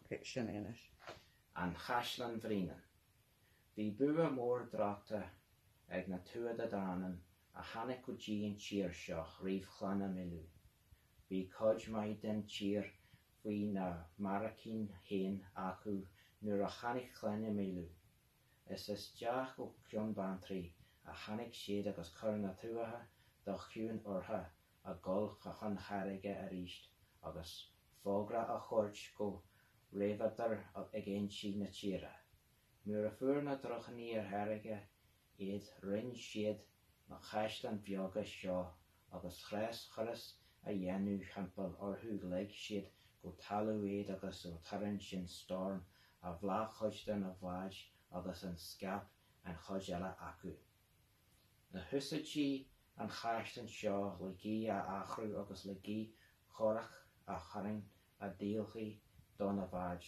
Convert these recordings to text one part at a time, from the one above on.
Sin é anois. An Chaisleán Bhréanainn. Bhí bua mór draochta ag na Tuatha Dé Danann a tháinig go dtí an tír seo roimh Chlanna Mile. Bhí cuid maith den tír faoi na mbarraicín féin acu nuair a tháinig Clanna Mile. Is isteach ó Cheann Beanntraí a tháinig siad agus chuir na Tuatha de chiúin ortha a dhul chun charraige aríst agus fógra a thabhairt go rabhadar ag ionsaí na tíre. Nuair a fuair na drúchtíní ar charraige iad rinn siad na caisleáin bheaga seo agus th'réis turas a dhéanamh thimpeall orthu leig siad go talamh iad agus tharraing sin storm a bhleá chuid de na bháid agus an scaip an chuid eile acu. Na húsáidtí an chaisleán seo le gaoth a athrú agus le gaoth chorrach a tharraingt a dhíolfaí do na bháid.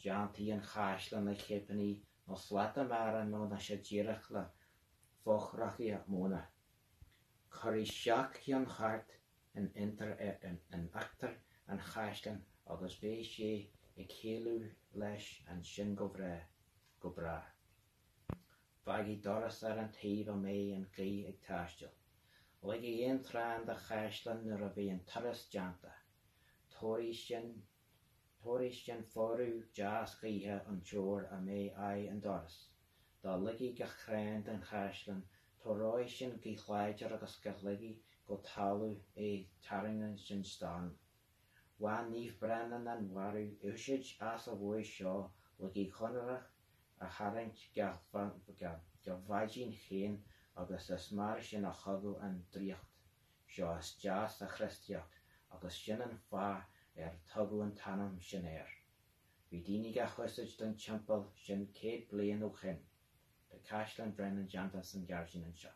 Déantaí an chaisleán le cipíní nó slata mara nó na sé díreach le fothracha móna. Cuirí seacht gceann thart in íochtar an chaisleáin agus bheadh sé ag éalú leis ansin go breá, go bráth. Fágadh doras ar an taobh a mbeadh an ghaoth ag taisteal. Ligeadh aon chrann de chaisleán nuair a bhí an turas déanta. Tabharfaidh sin Tabharfaidh sin fuaradh deas gaoithe an teor a mbeidh aghaidh an doras. Dá ligí gach crann den chaisleán, tabharóidh sin gaoth láidir agus dhá ligí go talamh é tarraingeoidh sin stoirm. Bhain Naomh Breandán an mhaireadh úsáid as a bhua seo le gaoth chorrach a tharraingt dá bháidín féin agus is mar sin a thugadh an draíocht seo isteach sa Chríostaíocht agus sin an fáth ar tugadh an t-ainm sin air. Bhí daoine dhá húsáid don teampall sin 100 bliain ó shin. Tá Caisleán Bhréanainn déanta san gairdín anseo.